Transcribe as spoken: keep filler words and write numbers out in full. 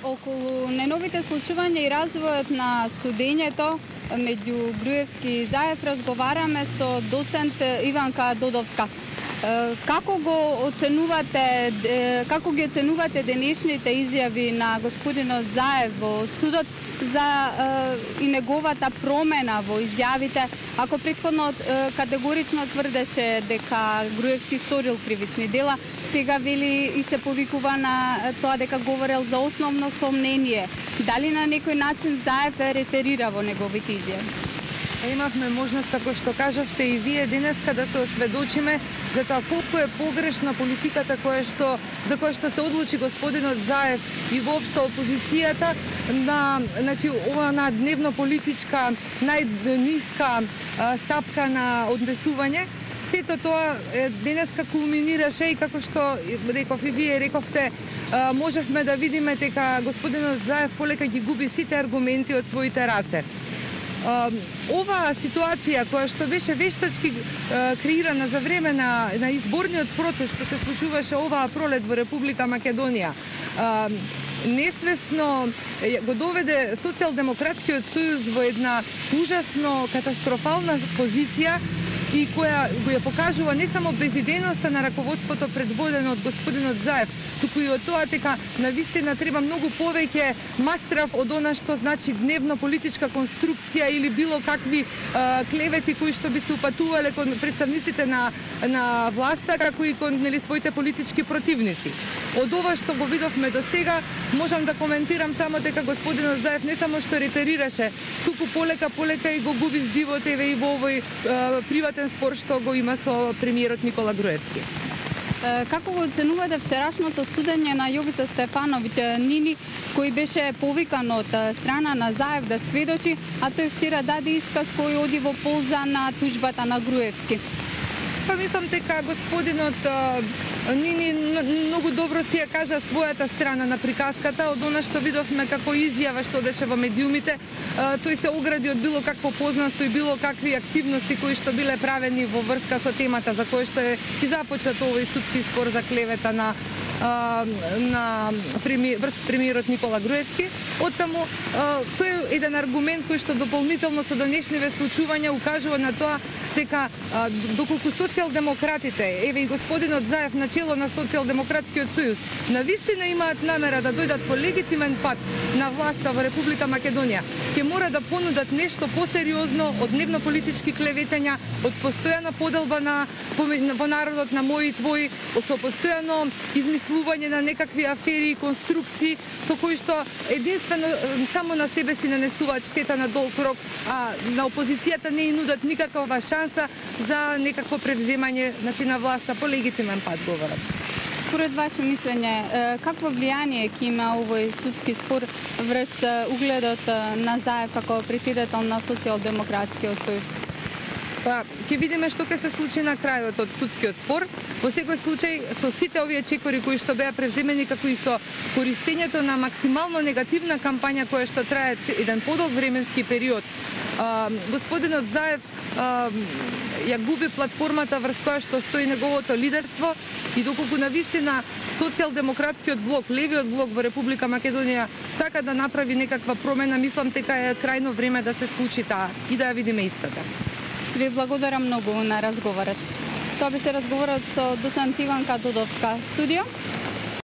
Околу најновите случувања и развојот на судењето меѓу Груевски и Заев разговараме со доцент Иванка Додовска. Како го оценувате, како ги оценувате денешните изјави на господинот Заев во судот за и неговата промена во изјавите, ако претходно категорично тврдеше дека Груевски сторил кривични дела, сега вели и се повикува на тоа дека говорел за основно сомнение. Дали на некој начин Заев е ретерира во неговите изјави? Имавме можност, како што кажавте и вие денеска, да се осведочиме за тоа колку е погрешна политиката која што, за која што се одлучи господинот Заев и воопшто опозицијата на, значи, ова на дневно политичка најниска стапка на однесување. Сето тоа денеска кулминираше и како што реков и вие рековте, можевме да видиме дека господинот Заев полека ги губи сите аргументи од своите раце. Ова ситуација која што беше вештачки креирана за време на, на изборниот процес што се случуваше оваа пролет во Република Македонија, несвесно го доведе Социјалдемократскиот сојуз во една ужасно катастрофална позиција и која го ја покажува не само безидејноста на раководството предводено од господинот Заев, туку и од тоа дека навистина треба многу повеќе мастрав од она што значи дневно политичка конструкција или било какви а, клевети кои што би се упатувале кон представниците на на власта, како и кон нели своите политички противници. Од ова што го видовме до сега, можам да коментирам само дека господинот Заев не само што ретерираше, туку полека полека и го губи здивот еве и во овој а, приватен спор што го има со премиерот Никола Груевски. Како го оценувате вчерашното судење на Јовица Стефановиќ Нини, кој беше повикан од страна на Заев да сведочи, а тој вчера даде исказ кој оди во полза на туџбата на Груевски? Па мислам дека господинот Нини многу добро си ја кажа својата страна на приказката, од она што видовме како изјава што деше во медиумите. Тој се огради од било какво познанство и било какви активности кои што биле правени во врска со темата за кој што е и започнат овој судски спор за клевета на на врз премиерот Никола Груевски. Оттаму тој е еден аргумент кој што дополнително со денешниве случувања укажува на тоа дека доколку социјалдемократите, еве и господинот Заев на чело на Социјалдемократскиот сојуз, навистина имаат намера да дојдат по легитимен пат на власта во Република Македонија, ќе мора да понудат нешто посериозно од дневно политички клеветања, од постојана поделба на во народот на мој и твој, со постојано измислување на некакви афери и конструкции со кои што единствено само на себе си нанесуваат штета на долг рок, а на опозицијата не и нудат никаква шанса за некакво превземање, значи, на власта по легитимен пат говорат. Според ваше мислење, какво влијание ќе има овој судски спор врз угледот на Заев како председател на Социјалдемократскиот сојуз? Па, ќе видиме што ќе се случи на крајот од судскиот спор. Во секој случај, со сите овие чекори кои што беа превземени, како и со користењето на максимално негативна кампања која што трае еден подолг временски период, а, господинот Заев а, ја губи платформата врз која што стои неговото лидерство и доколку навистина Социјалдемократскиот блок, левиот блок во Република Македонија сака да направи некаква промена, мислам дека е крајно време да се случи таа и да ја видиме истата. Ви благодарам многу на разговорот. Тоа беше разговорот со доцент Иванка Додовска. Студио.